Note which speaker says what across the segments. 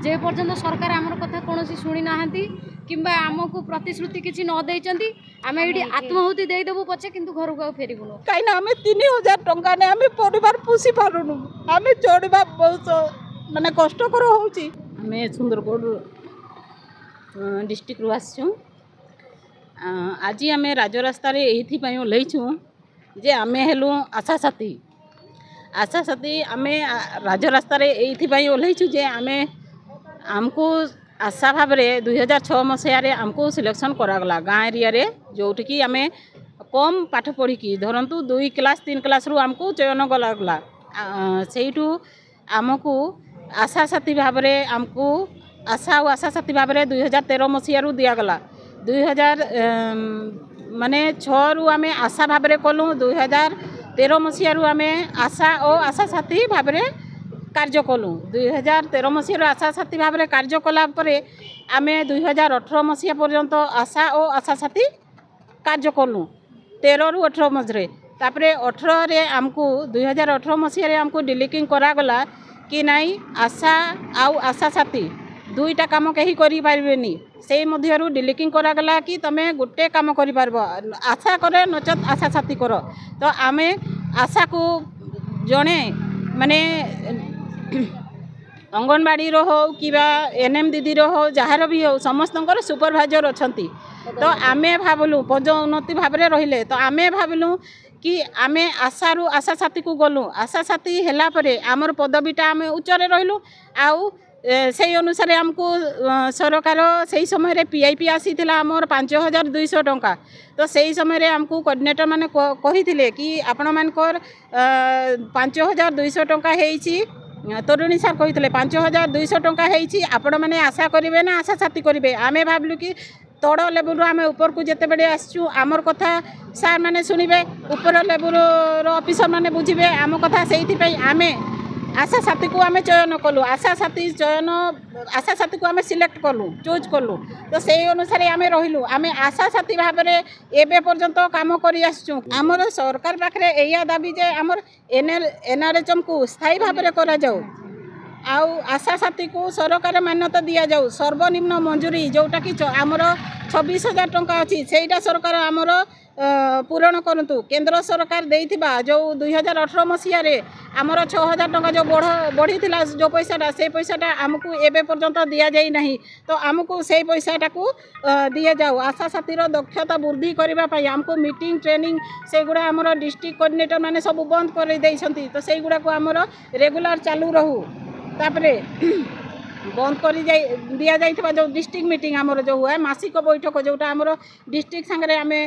Speaker 1: ଯେ ପର୍ଯ୍ୟନ୍ତ ସରକାର ଆମର କଥା କୌଣସି ଶୁଣି ନାହାନ୍ତି କିମ୍ବା ଆମକୁ ପ୍ରତିଶ୍ରୁତି କିଛି ନ ଦେଇଛନ୍ତି, ଆମେ ଏଇଠି ଆତ୍ମାହୁତି ଦେଇଦେବୁ ପଛେ, କିନ୍ତୁ ଘରକୁ ଆଉ ଫେରିବୁନୁ।
Speaker 2: କାହିଁକିନା ଆମେ 3000 ଟଙ୍କା ନେଇ ଆମେ ପରିବାର ପୋଷି ପାରୁନୁ। ଆମେ ଚଳିବା ବହୁତ ମାନେ କଷ୍ଟକର ହେଉଛି।
Speaker 3: ଆମେ ସୁନ୍ଦରଗଡ଼ ଡିଷ୍ଟ୍ରିକ୍ଟରୁ ଆସିଛୁ। ଆଜି ଆମେ ରାଜରାସ୍ତାରେ ଏଇଥିପାଇଁ ଓହ୍ଲେଇଛୁ ଯେ ଆମେ ହେଲୁ ଆଶା ସାଥୀ। ଆଶା ସାଥୀ ଆମେ ରାଜରାସ୍ତାରେ ଏଇଥିପାଇଁ ଓହ୍ଲେଇଛୁ ଯେ ଆମେ ଆମକୁ ଆଶା ଭାବରେ 2006 ମସିହାରେ ଆମକୁ ସିଲେକ୍ସନ୍ କରାଗଲା ଗାଁ ଏରିଆରେ, ଯେଉଁଠିକି ଆମେ କମ୍ ପାଠ ପଢ଼ିକି, ଧରନ୍ତୁ 2 କ୍ଲାସ୍ 3 କ୍ଲାସ୍ରୁ ଆମକୁ ଚୟନ କରାଗଲା। ସେଇଠୁ ଆମକୁ ଆଶା ସାଥୀ ଭାବରେ, ଆମକୁ ଆଶା ଆଉ ଆଶା ସାଥୀ ଭାବରେ 2013 ମସିହାରୁ ଦିଆଗଲା। 2000 ମାନେ 6ରୁ ଆମେ ଆଶା ଭାବରେ କଲୁ, 2013 ମସିହାରୁ ଆମେ ଆଶା ଓ ଆଶା ସାଥୀ ଭାବରେ କାର୍ଯ୍ୟ କଲୁ। 2013 ମସିହାରୁ ଆଶା ସାଥୀ ଭାବରେ କାର୍ଯ୍ୟ କଲା ପରେ ଆମେ 2018 ମସିହା ପର୍ଯ୍ୟନ୍ତ ଆଶା ଓ ଆଶା ସାଥୀ କାର୍ଯ୍ୟ କଲୁ, 13ରୁ 18 ମଝିରେ। ତାପରେ 18ରେ ଆମକୁ, 2018 ମସିହାରେ ଆମକୁ ଡିଲିକିଂ କରାଗଲା କି ନାଇଁ, ଆଶା ଆଉ ଆଶା ସାଥୀ ଦୁଇଟା କାମ କେହି କରିପାରିବେନି। ସେଇ ମଧ୍ୟରୁ ଡିଲିକିଂ କରାଗଲା କି ତୁମେ ଗୋଟେ କାମ କରିପାରିବ, ଆଶା କରେ ନଚେତ୍ ଆଶା ସାଥୀ କର। ତ ଆମେ ଆଶାକୁ ଜଣେ ମାନେ ଅଙ୍ଗନବାଡ଼ିର ହଉ କିମ୍ବା ଏନ୍ ଏମ୍ ଦିଦିର ହଉ, ଯାହାର ବି ହଉ, ସମସ୍ତଙ୍କର ସୁପରଭାଇଜର ଅଛନ୍ତି। ତ ଆମେ ଭାବିଲୁ ପଦୋନ୍ନତି ଭାବରେ ରହିଲେ, ତ ଆମେ ଭାବିଲୁ କି ଆମେ ଆଶାରୁ ଆଶା ସାଥୀକୁ ଗଲୁ। ଆଶା ସାଥୀ ହେଲା ପରେ ଆମର ପଦବୀଟା ଆମେ ଉଚ୍ଚରେ ରହିଲୁ, ଆଉ ସେଇ ଅନୁସାରେ ଆମକୁ ସରକାର ସେଇ ସମୟରେ ପି I P ଆସିଥିଲା ଆମର 5200 ଟଙ୍କା। ତ ସେଇ ସମୟରେ ଆମକୁ କୋଅର୍ଡ଼ିନେଟର ମାନେ କହିଥିଲେ କି ଆପଣମାନଙ୍କର 5200 ଟଙ୍କା ହେଇଛି। ତରୁଣୀ ସାର୍ କହିଥିଲେ 5200 ଟଙ୍କା ହେଇଛି, ଆପଣମାନେ ଆଶା କରିବେ ନା ଆଶା ସାଥୀ କରିବେ? ଆମେ ଭାବିଲୁ କି ତଳ ଲେବୁଲରୁ ଆମେ ଉପରକୁ ଯେତେବେଳେ ଆସିଛୁ, ଆମର କଥା ସାର୍ ମାନେ ଶୁଣିବେ, ଉପର ଲେବୁଲର ଅଫିସର ମାନେ ବୁଝିବେ ଆମ କଥା। ସେଇଥିପାଇଁ ଆମେ ଆଶା ସାଥୀକୁ ଆମେ ଚୟନ କଲୁ, ଆଶା ସାଥୀ ଚୟନ, ଆଶା ସାଥୀକୁ ଆମେ ସିଲେକ୍ଟ କଲୁ, ଚୁଜ୍ କଲୁ। ତ ସେଇ ଅନୁସାରେ ଆମେ ରହିଲୁ। ଆମେ ଆଶା ସାଥୀ ଭାବରେ ଏବେ ପର୍ଯ୍ୟନ୍ତ କାମ କରି ଆସିଛୁ। ଆମର ସରକାର ପାଖରେ ଏଇଆ ଦାବି ଯେ ଆମର ଏନ୍ ଆର୍ ଏଚ୍ ଏମ୍କୁ ସ୍ଥାୟୀ ଭାବରେ କରାଯାଉ ଆଉ ଆଶା ସାଥୀକୁ ସରକାର ମାନ୍ୟତା ଦିଆଯାଉ। ସର୍ବନିମ୍ନ ମଞ୍ଜୁରୀ ଯେଉଁଟାକି ଆମର 26,000 ଟଙ୍କା ଅଛି, ସେଇଟା ସରକାର ଆମର ପୂରଣ କରନ୍ତୁ। କେନ୍ଦ୍ର ସରକାର ଦେଇଥିବା ଯେଉଁ 2018 ମସିହାରେ ଆମର 6000 ଟଙ୍କା ଯେଉଁ ବଢ଼ିଥିଲା, ଯେଉଁ ପଇସାଟା, ସେଇ ପଇସାଟା ଆମକୁ ଏବେ ପର୍ଯ୍ୟନ୍ତ ଦିଆଯାଇ ନାହିଁ। ତ ଆମକୁ ସେଇ ପଇସାଟାକୁ ଦିଆଯାଉ। ଆଶା ସାଥୀର ଦକ୍ଷତା ବୃଦ୍ଧି କରିବା ପାଇଁ ଆମକୁ ମିଟିଂ, ଟ୍ରେନିଂ ସେଗୁଡ଼ା ଆମର ଡିଷ୍ଟ୍ରିକ୍ଟ କୋଅର୍ଡ଼ିନେଟର ମାନେ ସବୁ ବନ୍ଦ କରିଦେଇଛନ୍ତି। ତ ସେଇଗୁଡ଼ାକୁ ଆମର ରେଗୁଲାର ଚାଲୁ ରହୁ। ତାପରେ ବନ୍ଦ କରି ଯାଇ ଦିଆଯାଇଥିବା ଯେଉଁ ଡିଷ୍ଟ୍ରିକ୍ଟ ମିଟିଂ ଆମର ଯେଉଁ ହୁଏ, ମାସିକ ବୈଠକ, ଯେଉଁଟା ଆମର ଡିଷ୍ଟ୍ରିକ୍ଟ ସାଙ୍ଗରେ ଆମେ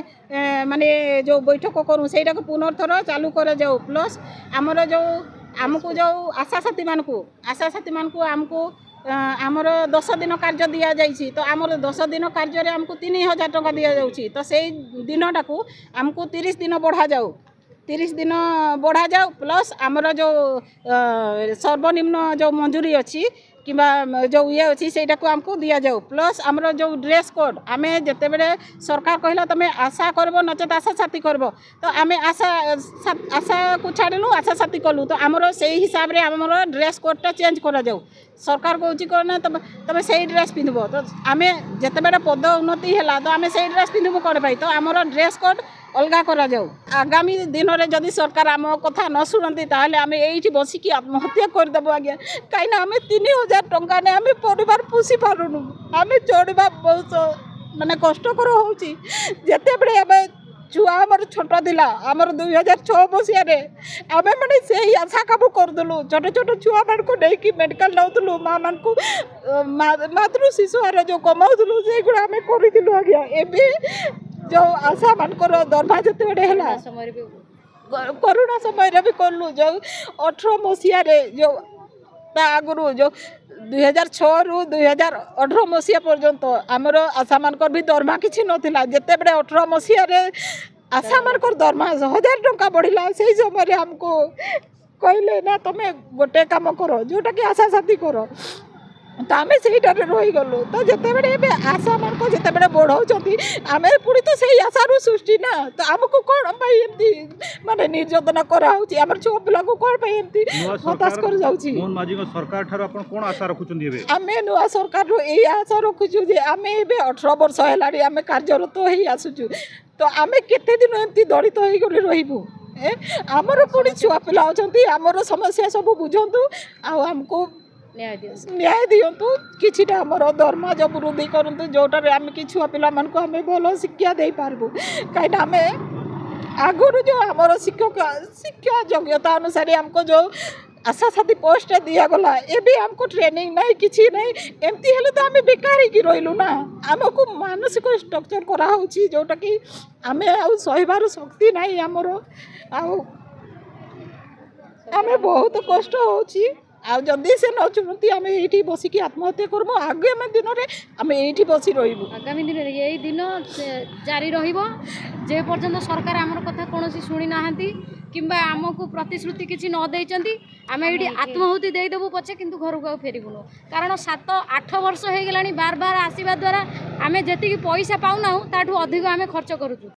Speaker 3: ମାନେ ଯେଉଁ ବୈଠକ କରୁ, ସେଇଟାକୁ ପୁନର୍ଥର ଚାଲୁ କରାଯାଉ। ପ୍ଲସ୍ ଆମର ଯେଉଁ ଆମକୁ ଯେଉଁ ଆଶା ସାଥୀମାନଙ୍କୁ, ଆଶା ସାଥୀମାନଙ୍କୁ ଆମକୁ ଆମର 10 ଦିନ କାର୍ଯ୍ୟ ଦିଆଯାଇଛି। ତ ଆମର 10 ଦିନ କାର୍ଯ୍ୟରେ ଆମକୁ 3000 ଟଙ୍କା ଦିଆଯାଉଛି। ତ ସେଇ ଦିନଟାକୁ ଆମକୁ 30 ଦିନ ବଢ଼ାଯାଉ, 30 ଦିନ ବଢ଼ାଯାଉ। ପ୍ଲସ୍ ଆମର ଯେଉଁ ସର୍ବନିମ୍ନ ଯେଉଁ ମଞ୍ଜୁରୀ ଅଛି କିମ୍ବା ଯେଉଁ ଇଏ ଅଛି, ସେଇଟାକୁ ଆମକୁ ଦିଆଯାଉ। ପ୍ଲସ୍ ଆମର ଯେଉଁ ଡ୍ରେସ୍ କୋଡ଼୍, ଆମେ ଯେତେବେଳେ ସରକାର କହିଲା ତୁମେ ଆଶା କରିବ ନଚେତ୍ ଆଶା ସାଥୀ କରିବ, ତ ଆମେ ଆଶା ଆଶାକୁ ଛାଡ଼ିଲୁ, ଆଶା ସାଥୀ କଲୁ। ତ ଆମର ସେଇ ହିସାବରେ ଆମର ଡ୍ରେସ୍ କୋଡ଼୍ଟା ଚେଞ୍ଜ କରାଯାଉ। ସରକାର କହୁଛି କ'ଣ ନା ତୁମେ ସେଇ ଡ୍ରେସ୍ ପିନ୍ଧିବ। ତ ଆମେ ଯେତେବେଳେ ପଦ ଉନ୍ନତି ହେଲା, ତ ଆମେ ସେଇ ଡ୍ରେସ୍ ପିନ୍ଧିବୁ କ'ଣ ପାଇଁ? ତ ଆମର ଡ୍ରେସ୍ କୋଡ଼୍ ଅଲଗା କରାଯାଉ। ଆଗାମୀ ଦିନରେ ଯଦି ସରକାର ଆମ କଥା ନ ଶୁଣନ୍ତି, ତାହେଲେ ଆମେ ଏଇଠି ବସିକି ଆତ୍ମହତ୍ୟା କରିଦେବୁ ଆଜ୍ଞା। କାହିଁକିନା ଆମେ 3000 ଟଙ୍କା ନେଇ ଆମେ ପରିବାର ପୋଷି ପାରୁନୁ। ଆମେ ଚଳିବା ବହୁତ ମାନେ କଷ୍ଟକର ହେଉଛି। ଯେତେବେଳେ ଆମେ ଛୁଆ ଆମର ଛୋଟ ଥିଲା, ଆମର 2006 ମସିହାରେ ଆମେ ମାନେ ସେଇ ଆଶା କାମ କରୁଥିଲୁ। ଛୋଟ ଛୋଟ ଛୁଆମାନଙ୍କୁ ନେଇକି ମେଡ଼ିକାଲ ନେଉଥିଲୁ, ମାଆମାନଙ୍କୁ ମାତୃ ଶିଶୁହାର ଯେଉଁ କମାଉଥିଲୁ, ସେଇଗୁଡ଼ା ଆମେ କରିଥିଲୁ ଆଜ୍ଞା। ଏବେ ଯେଉଁ ଆଶାମାନଙ୍କର ଦରମା ଯେତେବେଳେ ହେଲା, କରୋନା ସମୟରେ ବି କଲୁ। ଯେଉଁ 18 ମସିହାରେ, ଯେଉଁ ତା ଆଗରୁ ଯେଉଁ 2006ରୁ 2018 ମସିହା ପର୍ଯ୍ୟନ୍ତ ଆମର ଆଶାମାନଙ୍କର ବି ଦରମା କିଛି ନଥିଲା। ଯେତେବେଳେ 18 ମସିହାରେ ଆଶାମାନଙ୍କର ଦରମା 1000 ଟଙ୍କା ବଢ଼ିଲା, ସେଇ ସମୟରେ ଆମକୁ କହିଲେ ନା ତୁମେ ଗୋଟେ କାମ କର, ଯେଉଁଟାକି ଆଶା ସାଥୀ କର।
Speaker 2: ତ ଆମେ ସେଇଟାରେ ରହିଗଲୁ। ତ ଯେତେବେଳେ ଏବେ ଆଶାମାନଙ୍କ ଯେତେବେଳେ ବଢ଼ାଉଛନ୍ତି, ଆମେ ପୁଣି ତ ସେଇ ଆଶାରୁ ସୃଷ୍ଟି ନା। ତ ଆମକୁ କ'ଣ ପାଇଁ ଏମିତି ମାନେ ନିର୍ଯାତନା କରାହେଉଛି? ଆମର ଛୁଆ ପିଲାଙ୍କୁ କ'ଣ ପାଇଁ ଏମିତି
Speaker 4: ନୂଆ
Speaker 2: ହତାଶ
Speaker 4: ସରକାର
Speaker 2: କରାଯାଉଛି?
Speaker 4: ମୋହନ ମାଝୀଙ୍କ ସରକାର ଠାରୁ ଆପଣ କ'ଣ ଆଶା ରଖୁଛନ୍ତି ଏବେ?
Speaker 2: ଆମେ ନୂଆ ସରକାରରୁ ଏଇ ଆଶା ରଖୁଛୁ ଯେ ଆମେ ଏବେ 18 ବର୍ଷ ହେଲାଣି ଆମେ କାର୍ଯ୍ୟରତ ହେଇ ଆସୁଛୁ, ତ ଆମେ କେତେ ଦିନ ଏମିତି ଦଳିତ ହେଇକରି ରହିବୁ? ଏ ଆମର ପୁଣି ଛୁଆ ପିଲା ଅଛନ୍ତି, ଆମର ସମସ୍ୟା ସବୁ ବୁଝନ୍ତୁ ଆଉ ଆମକୁ
Speaker 1: ନ୍ୟାୟ ଦିଅନ୍ତୁ,
Speaker 2: ନ୍ୟାୟ ଦିଅନ୍ତୁ। କିଛିଟା ଆମର ଦରମା ଯୋଉ ବୃଦ୍ଧି କରନ୍ତୁ, ଯେଉଁଟାରେ ଆମେ କି ଛୁଆ ପିଲାମାନଙ୍କୁ ଆମେ ଭଲ ଶିକ୍ଷା ଦେଇପାରିବୁ। କାହିଁକିନା ଆମେ ଆଗରୁ ଯେଉଁ ଆମର ଶିକ୍ଷକ ଶିକ୍ଷା ଯୋଗ୍ୟତା ଅନୁସାରେ ଆମକୁ ଯେଉଁ ଆଶା ସାଥୀ ପୋଷ୍ଟଟା ଦିଆଗଲା, ଏବେ ଆମକୁ ଟ୍ରେନିଂ ନାହିଁ, କିଛି ନାହିଁ। ଏମିତି ହେଲେ ତ ଆମେ ବେକାର ହେଇକି ରହିଲୁ ନା। ଆମକୁ ମାନସିକ ଷ୍ଟ୍ରକ୍ଚର କରାହେଉଛି, ଯେଉଁଟାକି ଆମେ ଆଉ ସହିବାର ଶକ୍ତି ନାହିଁ ଆମର। ଆଉ ଆମେ ବହୁତ କଷ୍ଟ ହେଉଛି। ଆଉ ଯଦି ସେ ନ ଶୁଣନ୍ତି, ଆମେ ଏଇଠି ବସିକି ଆତ୍ମହତ୍ୟା କରିବୁ। ଆଗାମୀ ଦିନରେ ଆମେ ଏଇଠି ବସି ରହିବୁ।
Speaker 1: ଆଗାମୀ ଦିନରେ ଏଇ ଦିନ ଜାରି ରହିବ ଯେ ପର୍ଯ୍ୟନ୍ତ ସରକାର ଆମର କଥା କୌଣସି ଶୁଣି ନାହାନ୍ତି କିମ୍ବା ଆମକୁ ପ୍ରତିଶ୍ରୁତି କିଛି ନ ଦେଇଛନ୍ତି। ଆମେ ଏଇଠି ଆତ୍ମାହୁତି ଦେଇଦେବୁ ପଛେ, କିନ୍ତୁ ଘରକୁ ଆଉ ଫେରିବୁନୁ। କାରଣ 7 8 ବର୍ଷ ହେଇଗଲାଣି ବାର ବାର ଆସିବା ଦ୍ୱାରା ଆମେ ଯେତିକି ପଇସା ପାଉନାହୁଁ, ତାଠୁ ଅଧିକ ଆମେ ଖର୍ଚ୍ଚ କରୁଛୁ।